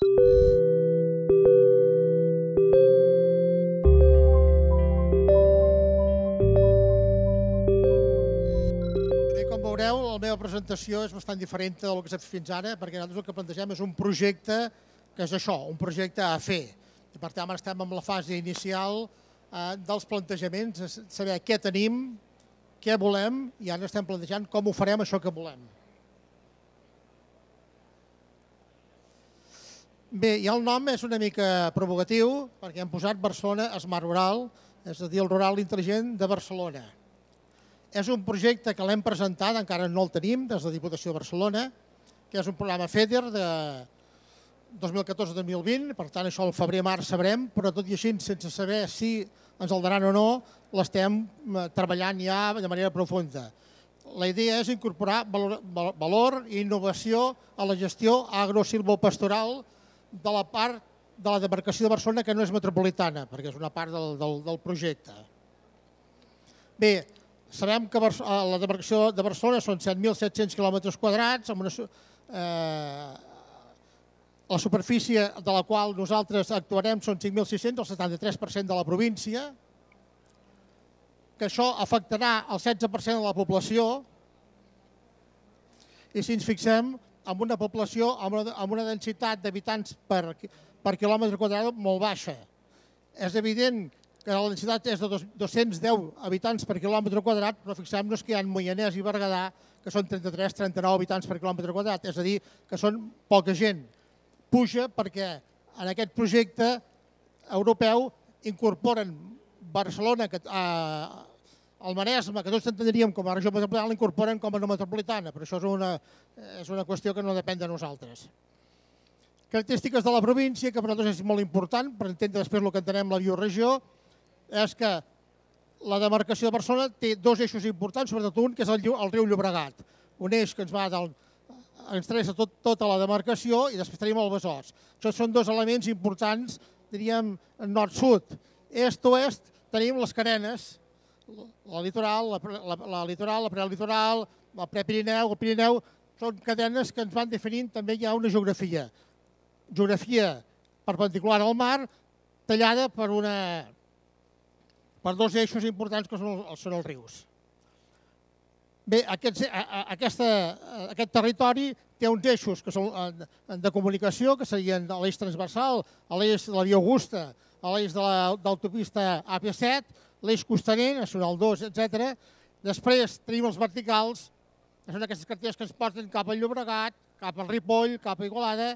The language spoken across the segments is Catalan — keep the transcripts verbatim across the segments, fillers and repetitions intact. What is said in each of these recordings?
Bé, com veureu, la meva presentació és bastant diferent del que s'ha fet fins ara, perquè nosaltres el que plantegem és un projecte que és això, un projecte a fer. I per tant, ara estem en la fase inicial eh, dels plantejaments, de saber què tenim, què volem, i ara estem plantejant com ho farem això que volem. Bé, i el nom és una mica provocatiu, perquè hem posat Barcelona Smart Rural, és a dir, el rural intel·ligent de Barcelona. És un projecte que l'hem presentat, encara no el tenim, des de la Diputació de Barcelona, que és un programa FEDER de dos mil catorze dos mil vint, per tant, això al febrer-març sabrem, però tot i així, sense saber si ens el daran o no, l'estem treballant ja de manera profunda. La idea és incorporar valor, valor i innovació a la gestió agrosilvopastoral de la part de la demarcació de Barcelona que no és metropolitana, perquè és una part del, del, del projecte. Bé, sabem que la demarcació de Barcelona són set mil set-cents quilòmetres quadrats, amb una, eh, la superfície de la qual nosaltres actuarem són cinc mil sis-cents, el setanta-tres per cent de la província, que això afectarà el setze per cent de la població, i si ens fixem en una població amb una, amb una densitat d'habitants per, per quilòmetre quadrat molt baixa. És evident que la densitat és de dos-cents deu habitants per quilòmetre quadrat, però fixem-nos que hi ha Moianès i Berguedà, que són trenta-tres trenta-nou habitants per quilòmetre quadrat, és a dir, que són poca gent. Puja perquè en aquest projecte europeu incorporen Barcelona, que, eh, el Maresme, que tots entendríem com a regió metropolitana, l'incorporen com a no metropolitana, però això és una, és una qüestió que no depèn de nosaltres. Característiques de la província, que per nosaltres és molt important, per entendre després el que entenem la bioregió, és que la demarcació de Barcelona té dos eixos importants, sobretot un, que és el, el riu Llobregat. Un eix que ens va del, ens travessa tot, tota la demarcació i després tenim el Besòs. Això són dos elements importants, diríem, nord-sud. Est-oest tenim les carenes, la litoral, la, la, la litoral, la prelitoral, el prepirineu, el Pirineu, són cadenes que ens van definint també hi ha una geografia. Geografia perpendicular al mar, tallada per, una, per dos eixos importants que són, són els rius. Bé, aquest, aquesta, aquest territori té uns eixos que són de comunicació, que serien l'eix transversal, l'eix de la Via Augusta, l'eix de l'autopista A P set, l'eix costaner, Nacional dos, etcètera. Després tenim els verticals, que són aquestes carreteres que ens porten cap al Llobregat, cap al Ripoll, cap a Igualada,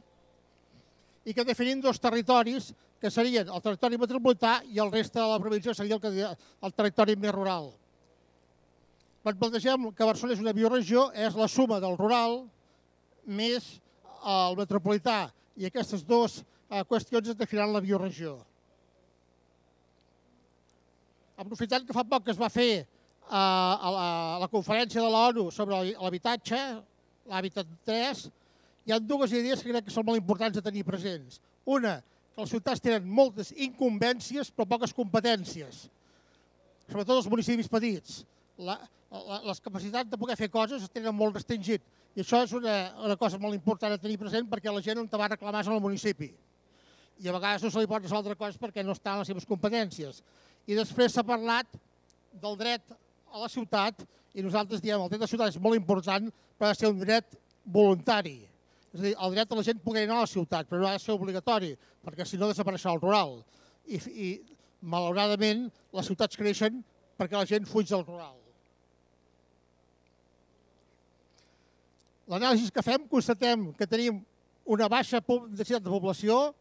i que definim dos territoris, que serien el territori metropolità i el reste de la província seria el, el territori més rural. Quan plantegem que Barcelona és una bioregió, és la suma del rural més el metropolità, i aquestes dues qüestions es definiran la bioregió. Aprofitant que fa poc que es va fer a la, a la conferència de l'ONU sobre l'habitatge, l'Hàbitat tres, hi ha dues idees que crec que són molt importants de tenir presents. Una, que les ciutats tenen moltes incumbències però poques competències, sobretot els municipis petits. La, la, les capacitats de poder fer coses es tenen molt restringit i això és una, una cosa molt important a tenir present perquè la gent on te va reclamar és al municipi i a vegades no se li pot resoldre coses perquè no estan en les seves competències. I després s'ha parlat del dret a la ciutat i nosaltres diem que el dret a la ciutat és molt important però ha de ser un dret voluntari. És a dir, el dret a la gent poder anar a la ciutat però no ha de ser obligatori perquè si no desapareixerà el rural. I, i malauradament les ciutats creixen perquè la gent fuig del rural. L'anàlisi que fem constatem que tenim una baixa densitat de població,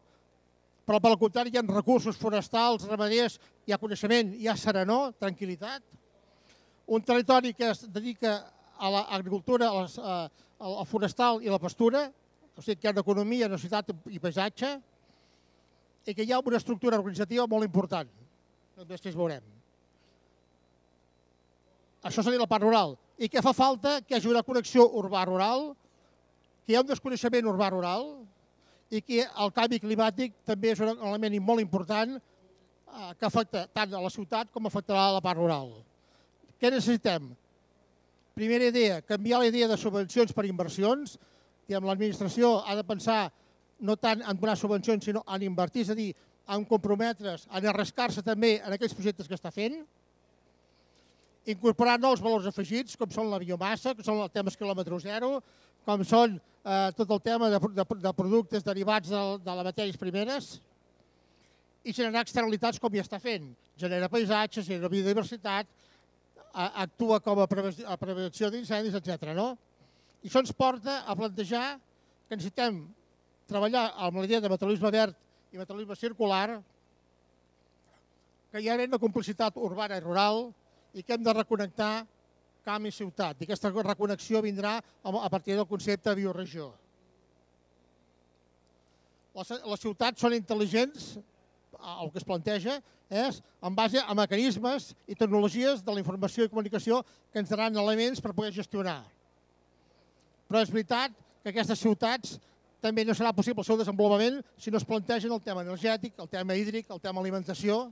però per al contrari hi ha recursos forestals, ramaders, hi ha coneixement, hi ha serenor, tranquil·litat. Un territori que es dedica a l'agricultura, al forestal i a la pastura, o sigui que hi ha una economia, una ciutat i paisatge, i que hi ha una estructura organitzativa molt important. Després veurem. Això seria la part rural. I què fa falta? Que hi hagi una connexió urbà-rural, que hi ha un desconeixement urbà-rural i que el canvi climàtic també és un element molt important que afecta tant a la ciutat com afectarà a la part rural. Què necessitem? Primera idea, canviar la idea de subvencions per inversions. L'administració ha de pensar no tant en donar subvencions, sinó en invertir, és a dir, en comprometre's, en arriscar-se també en aquells projectes que està fent, incorporar nous valors afegits, com són la biomassa, com són els temes quilòmetre zero, com són eh, tot el tema de, de, de productes derivats de, de les matèries primeres, i generar externalitats com ja està fent. Genera paisatges, genera biodiversitat, actua com a prevenció d'incendis, etcètera. No? I això ens porta a plantejar que necessitem treballar amb la idea de metabolisme verd i metabolisme circular, que hi ha una complicitat urbana i rural i que hem de reconnectar camp i ciutat. I aquesta reconnexió vindrà a partir del concepte de bioregió. Les ciutats són intel·ligents, el que es planteja és en base a mecanismes i tecnologies de la informació i comunicació que ens daran elements per poder gestionar. Però és veritat que aquestes ciutats també no serà possible el seu desenvolupament si no es plantegen el tema energètic, el tema hídric, el tema alimentació,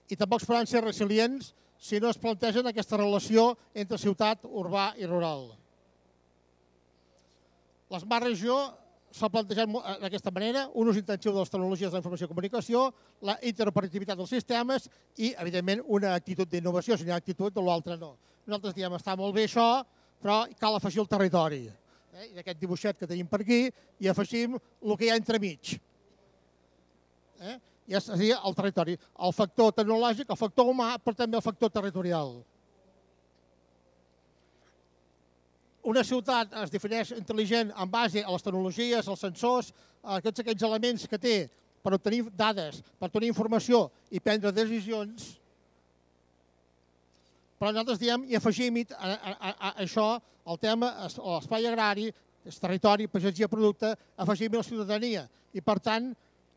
i tampoc es poden ser resilients si no es plantegen aquesta relació entre ciutat, urbà i rural. L'Smart Regió s'ha plantejat d'aquesta manera, un ús intensiu de les tecnologies de la informació i comunicació, la interoperativitat dels sistemes i, evidentment, una actitud d'innovació, si n'hi ha actitud, de l'altra no. Nosaltres diem, està molt bé això, però cal afegir el territori. I d'aquest dibuixet que tenim per aquí, hi afegim el que hi ha entremig. I és el territori, el factor tecnològic, el factor humà, però també el factor territorial. Una ciutat es defineix intel·ligent en base a les tecnologies, als sensors, a tots aquells elements que té per obtenir dades, per obtenir informació i prendre decisions. Però nosaltres diem i afegim a això el tema, l'espai agrari, el territori, pagesia, producte, afegim la ciutadania. I per tant,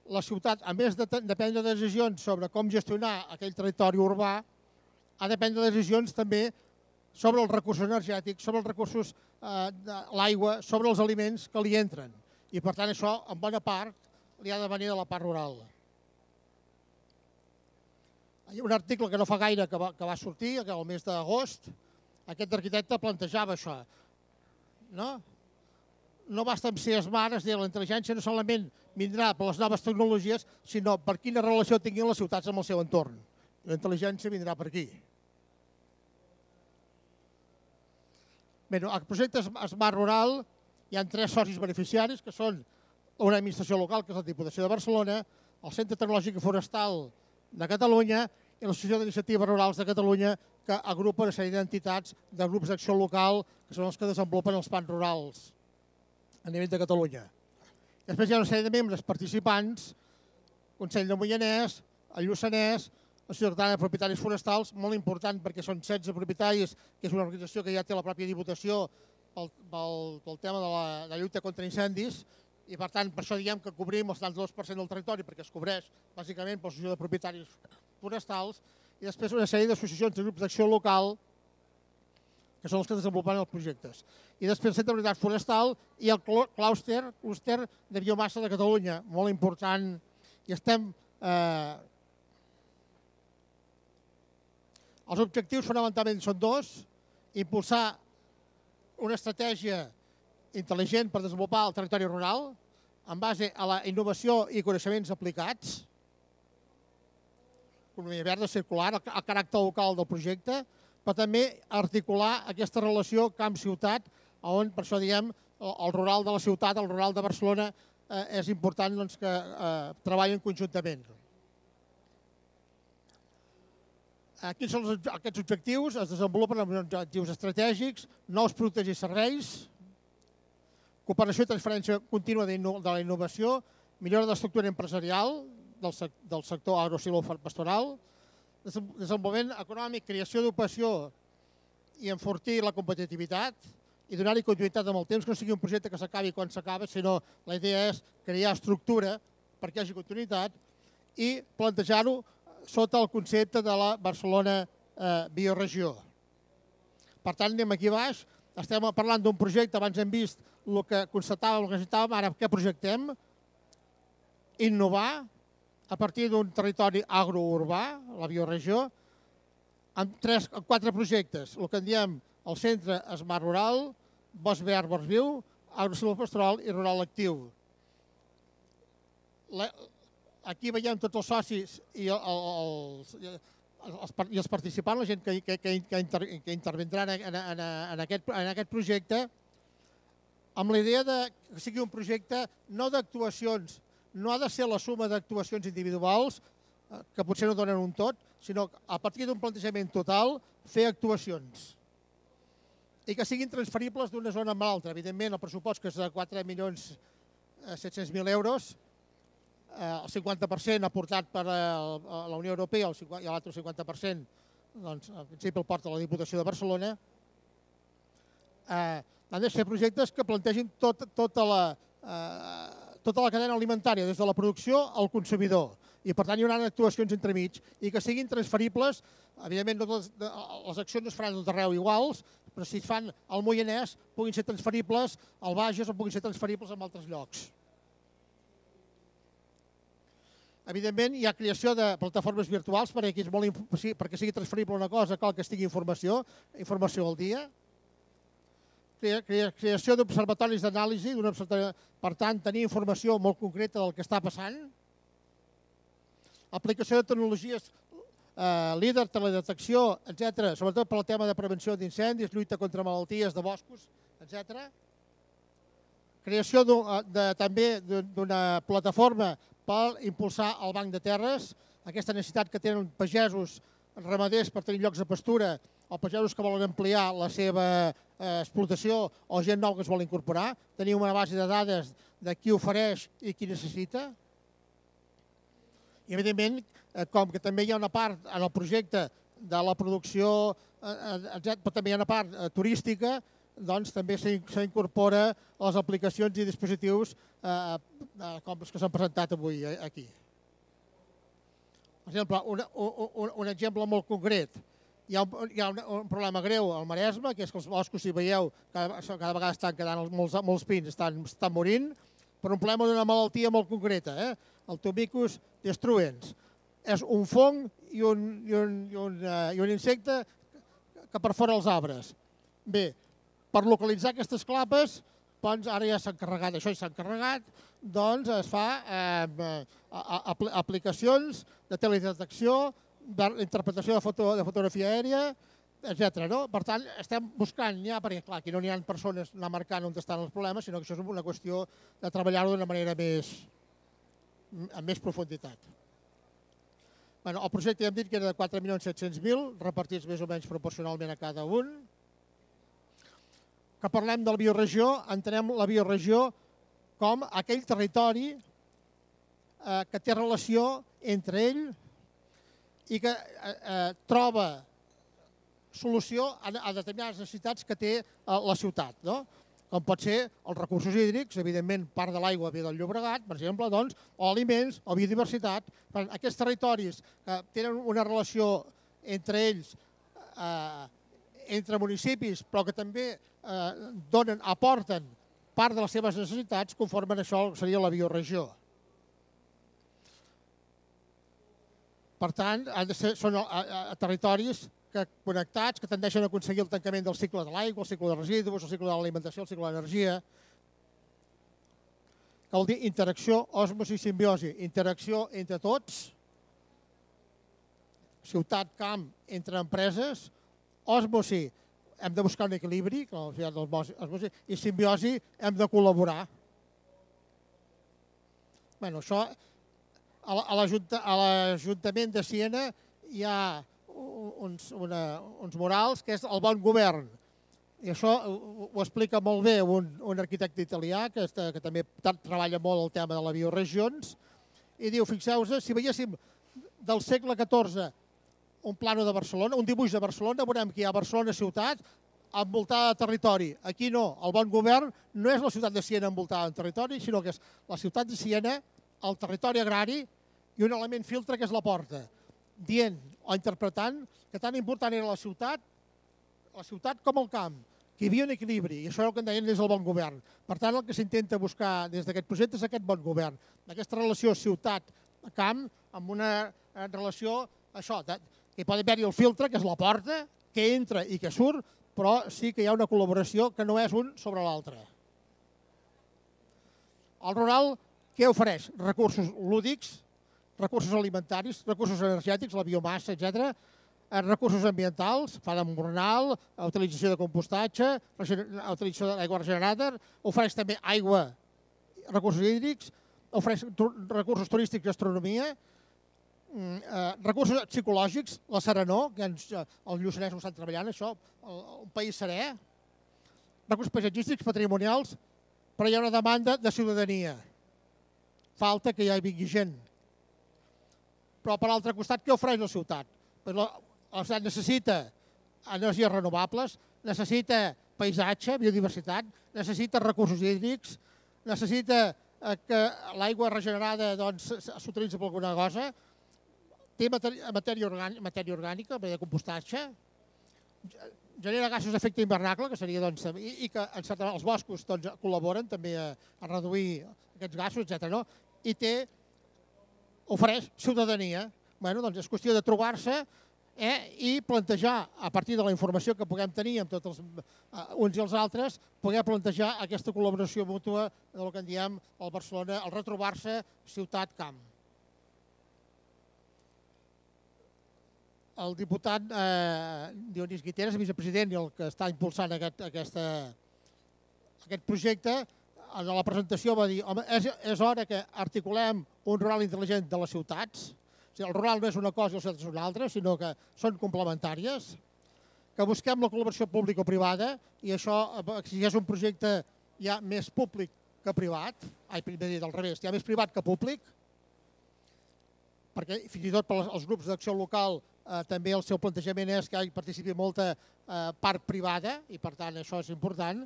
la ciutat, a més de prendre decisions sobre com gestionar aquell territori urbà, ha de prendre decisions també sobre els recursos energètics, sobre els recursos de l'aigua, sobre els aliments que li entren. I per tant això, en bona part, li ha de venir de la part rural. Hi ha un article que no fa gaire que va sortir, el mes d'agost, aquest arquitecte plantejava això. No basta amb ser smart, és a dir, la intel·ligència no solament vindrà per les noves tecnologies, sinó per quina relació tinguin les ciutats amb el seu entorn. La intel·ligència vindrà per aquí. Bé, al projecte Smart Rural hi ha tres socis beneficiaris, que són una administració local, que és la Diputació de Barcelona, el Centre Tecnològic i Forestal de Catalunya i l'Associació d'Iniciatives Rurals de Catalunya, que agrupa una sèrie d'entitats de grups d'acció local, que són els que desenvolupen els plans rurals a nivell de Catalunya. Després hi ha una sèrie de membres participants, Consell de Moianès, el Lluçanès, l'Associació Catalana de Propietaris Forestals, molt important perquè són setze propietaris, que és una organització que ja té la pròpia Diputació pel tema de la lluita contra incendis, i per tant per això diem que cobrim el setanta-dos per cent del territori perquè es cobreix bàsicament per l'Associació de Propietaris Forestals, i després una sèrie d'associacions de grups d'acció local que són els que desenvolupen els projectes. I després el Centre de Mobilitat Forestal i el clúster de biomassa de Catalunya, molt important, i estem... Els objectius fonamentalment són dos: impulsar una estratègia intel·ligent per desenvolupar el territori rural en base a la innovació i coneixements aplicats, economia verda, circular, el caràcter local del projecte, però també articular aquesta relació camp-ciutat, on, per això diem, el rural de la ciutat, el rural de Barcelona, és important que treballin conjuntament. Quins són aquests objectius? Es desenvolupen amb objectius estratègics, nous productes i serveis, cooperació i transferència contínua de la innovació, millora de l'estructura empresarial del sector agrosilvopastoral, desenvolupament econòmic, creació d'ocupació i enfortir la competitivitat i donar-hi continuïtat amb el temps, que no sigui un projecte que s'acabi quan s'acaba, sinó la idea és crear estructura perquè hi hagi continuïtat i plantejar-ho sota el concepte de la Barcelona Bioregió. Per tant, anem aquí baix, estem parlant d'un projecte, abans hem vist el que constatàvem, el que necessitàvem, ara què projectem? Innovar a partir d'un territori agrourbà, la bioregió, amb quatre projectes, el que en diem el Centre Smart Rural, Bosc Verd, Bosc Viu, agrosilvopastoral i rural actiu. Aquí veiem tots els socis i els, i els participants, la gent que, que, que, inter, que intervindrà en, en, en, aquest, en aquest projecte, amb la idea de que sigui un projecte no d'actuacions, no ha de ser la suma d'actuacions individuals, que potser no donen un tot, sinó a partir d'un plantejament total, fer actuacions. I que siguin transferibles d'una zona a l'altra. Evidentment, el pressupost, que és de quatre milions set-cents mil euros, el cinquanta per cent aportat per la Unió Europea i l'altre cinquanta per cent, doncs, en principi el porta la Diputació de Barcelona, han de ser projectes que plantegin tota la cadena alimentària, des de la producció al consumidor. I, per tant, hi haurà actuacions entremig i que siguin transferibles. Evidentment, les accions no es faran tot arreu iguals, però si es fan al Moianès, puguin ser transferibles al Bages o puguin ser transferibles en altres llocs. Evidentment, hi ha creació de plataformes virtuals perquè sigui transferible una cosa, cal que estigui informació, informació al dia. Creació d'observatoris d'anàlisi, per tant, tenir informació molt concreta del que està passant. Aplicació de tecnologies líder, teledetecció, etcètera, sobretot per al tema de prevenció d'incendis, lluita contra malalties de boscos, etcètera. Creació també d'una plataforma per impulsar el banc de terres, aquesta necessitat que tenen pagesos, ramaders per tenir llocs de pastura, o pagesos que volen ampliar la seva explotació o gent nou que es vol incorporar, tenir una base de dades de qui ofereix i qui necessita. I, evidentment, com que també hi ha una part en el projecte de la producció, però també hi ha una part turística, doncs també s'incorpora les aplicacions i dispositius com els que s'han presentat avui aquí. Per exemple, un exemple molt concret. Hi ha un problema greu al Maresme, que és que els boscos, si veieu, cada vegada estan quedant molts pins, estan morint, per un problema d'una malaltia molt concreta, el Tomicus destruens. És un fong i un insecte que perfora els arbres. Bé, per localitzar aquestes clapes, doncs ara ja s'han carregat, això ja s'han carregat, doncs es fa aplicacions de teledetecció, d'interpretació de fotografia aèria, etcètera. Per tant, estem buscant ja, perquè clar, aquí no n'hi ha persones anar marcant on estan els problemes, sinó que això és una qüestió de treballar-ho d'una manera amb més profunditat. El projecte ja hem dit que era de quatre milions set-cents mil, repartits més o menys proporcionalment a cada un. Que parlem de la bioregió, entenem la bioregió com aquell territori que té relació entre ell i que troba solució a determinades necessitats que té la ciutat, com pot ser els recursos hídrics, evidentment part de l'aigua ve del Llobregat, per exemple, o aliments, o biodiversitat. Aquests territoris que tenen una relació entre ells, entre municipis, però que també donen, aporten part de les seves necessitats, conformen això que seria la bioregió. Per tant, són territoris connectats que tendeixen a aconseguir el tancament del cicle de l'aigua, el cicle de residus, el cicle de l'alimentació, el cicle de l'energia. Que vol dir interacció, osmosi i simbiosi. Interacció entre tots, ciutat, camp, entre empreses, osmosi, hem de buscar un equilibri, i simbiosi, hem de col·laborar. Bé, això, a l'Ajuntament de Siena hi ha uns murals que és el bon govern. I això ho explica molt bé un arquitecte italià que també treballa molt el tema de les bioregions i diu, fixeu-vos, si veiéssim del segle catorze un plano de Barcelona, un dibuix de Barcelona, veurem que hi ha Barcelona ciutat envoltada de territori. Aquí no, el bon govern no és la ciutat de Siena envoltada de territori, sinó que és la ciutat de Siena, el territori agrari i un element filtre que és la porta, dient o interpretant que tan important era la ciutat, la ciutat com el camp, que hi havia un equilibri, i això és el que en deien des del bon govern. Per tant, el que s'intenta buscar des d'aquest projecte és aquest bon govern, aquesta relació ciutat-camp, amb una relació, això, que hi pot haver-hi el filtre, que és la porta, que entra i que surt, però sí que hi ha una col·laboració que no és un sobre l'altre. El rural què ofereix? Recursos lúdics, recursos alimentaris, recursos energètics, la biomassa, etcètera, recursos ambientals, fa d'embornal, utilització de compostatge, utilització d'aigua regenerada, ofereix també aigua, recursos hídrics, ofereix recursos turístics i gastronomia, recursos psicològics, la serenor, que els lluçanesos estan treballant, això, un país serè, recursos paisatgístics, patrimonials, però hi ha una demanda de ciutadania. Falta que hi vingui gent. Però per l'altre costat, què ofereix la ciutat? La ciutat necessita energies renovables, necessita paisatge, biodiversitat, necessita recursos hídrics, necessita que l'aigua regenerada s'utilitzi per alguna cosa, té matèria orgànica, de compostatge, genera gasos d'efecte hivernacle, que seria, i que els boscos col·laboren també a reduir aquests gasos, etcètera. I té, ofereix ciutadania. És qüestió de trobar-se i plantejar, a partir de la informació que puguem tenir amb tots uns i els altres, poder plantejar aquesta col·laboració mútua del que en diem el Barcelona, el retrobar-se ciutat-camp. El diputat Dionís Guiteras, vicepresident i el que està impulsant aquest projecte, en la presentació va dir que és hora que articulem un rural intel·ligent de les ciutats. El rural no és una cosa i les ciutats és una altra, sinó que són complementàries, que busquem la col·laboració pública-privada i això exigeix un projecte ja més públic que privat, ai, primer dit al revés, ja més privat que públic, perquè fins i tot pels grups d'acció local també el seu plantejament és que hi participi molta part privada i per tant això és important,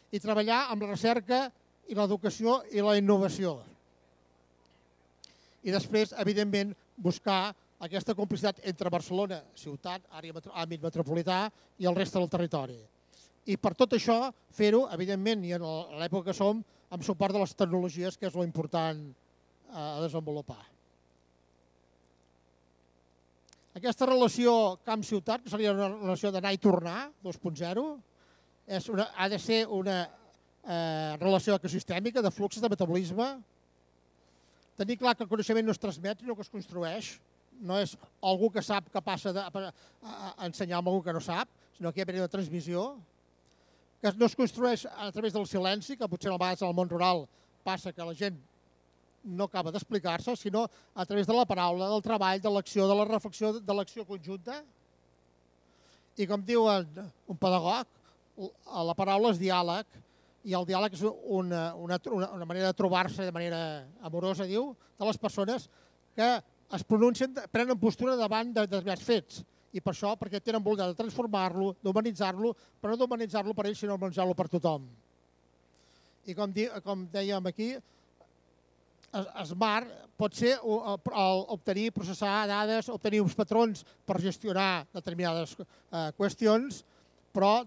i treballar amb la recerca i l'educació i la innovació. I després, evidentment, buscar aquesta complicitat entre Barcelona, ciutat, àmbit metropolità i el reste del territori. I per tot això, fer-ho, evidentment, i en l'època que som, amb suport de les tecnologies, que és l'important a desenvolupar. Aquesta relació camp-ciutat, que seria una relació d'anar i tornar, dos punt zero, ha de ser una relació ecosistèmica, de fluxos, de metabolisme. Tenir clar que el coneixement no es transmet, sinó que es construeix. No és algú que sap que passa a ensenyar a algú que no sap, sinó que hi ha una transmissió. Que no es construeix a través del silenci, que potser a vegades en el món rural passa que la gent no acaba d'explicar-se, sinó a través de la paraula, del treball, de l'acció, de la reflexió, de l'acció conjunta. I com diu un pedagog, la paraula és diàleg, i el diàleg és una manera de trobar-se de manera amorosa, diu, de les persones que es pronuncien, prenen postura davant de determinats fets. I per això, perquè tenen voluntat de transformar-lo, d'humanitzar-lo, però no d'humanitzar-lo per ells, sinó d'humanitzar-lo per tothom. I com dèiem aquí, Smart pot ser obtenir, processar dades, obtenir uns patrons per gestionar determinades qüestions, però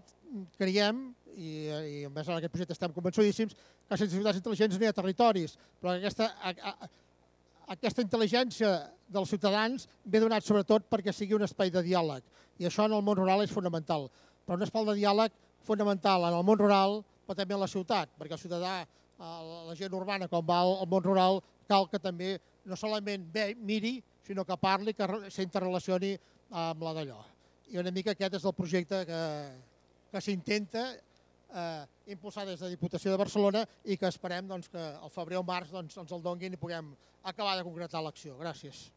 creiem, i a més en aquest projecte estem convençudíssims, que sense ciutats intel·ligents no hi ha territoris, però aquesta intel·ligència dels ciutadans ve donat sobretot perquè sigui un espai de diàleg, i això en el món rural és fonamental. Però un espai de diàleg fonamental en el món rural, però també en la ciutat, perquè el ciutadà, la gent urbana, com va al món rural, cal que també no solament miri, sinó que parli, que s'interrelacioni amb la d'allò. I una mica aquest és el projecte que s'intenta impulsar des de la Diputació de Barcelona i que esperem que al febrer o març ens el donguin i puguem acabar de concretar l'acció. Gràcies.